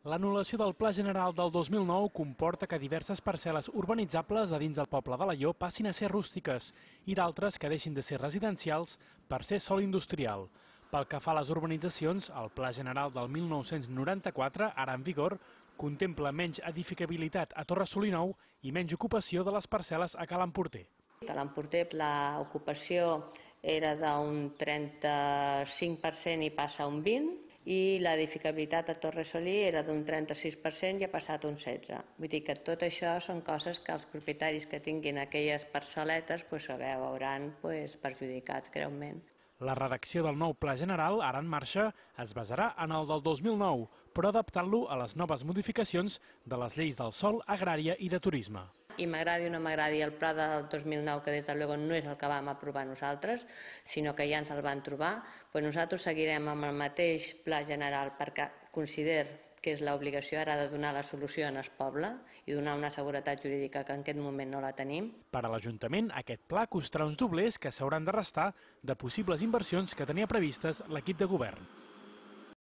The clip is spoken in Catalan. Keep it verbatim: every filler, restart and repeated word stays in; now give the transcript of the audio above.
L'anul·lació del Pla General del dos mil nou comporta que diverses parcel·les urbanitzables de dins del poble d'Alaior passin a ser rústiques i d'altres que deixin de ser residencials per ser sòl industrial. Pel que fa a les urbanitzacions, el Pla General del mil nou-cents noranta-quatre, ara en vigor, contempla menys edificabilitat a Torre Solinou i menys ocupació de les parcel·les a Ca l'Emporter. A l'Emporter l'ocupació era d'un trenta-cinc per cent i passa a un vint per cent, i l'edificabilitat a Torre Solí era d'un trenta-sis per cent i ha passat a un setze per cent. Vull dir que tot això són coses que els propietaris que tinguin aquelles parcel·letes pues, se veuran pues, perjudicats greument. La redacció del nou Pla General, ara en marxa, es basarà en el del dos mil nou, però adaptant-lo a les noves modificacions de les lleis del sòl, agrària i de turisme. I m'agradi o no m'agradi el pla del dos mil nou, que des de luego no és el que vam aprovar nosaltres, sinó que ja ens el van trobar, doncs nosaltres seguirem amb el mateix pla general perquè consider que és l'obligació ara de donar la solució en el poble i donar una seguretat jurídica que en aquest moment no la tenim. Per a l'Ajuntament, aquest pla costarà uns doblers que s'hauran de restar de possibles inversions que tenia previstes l'equip de govern.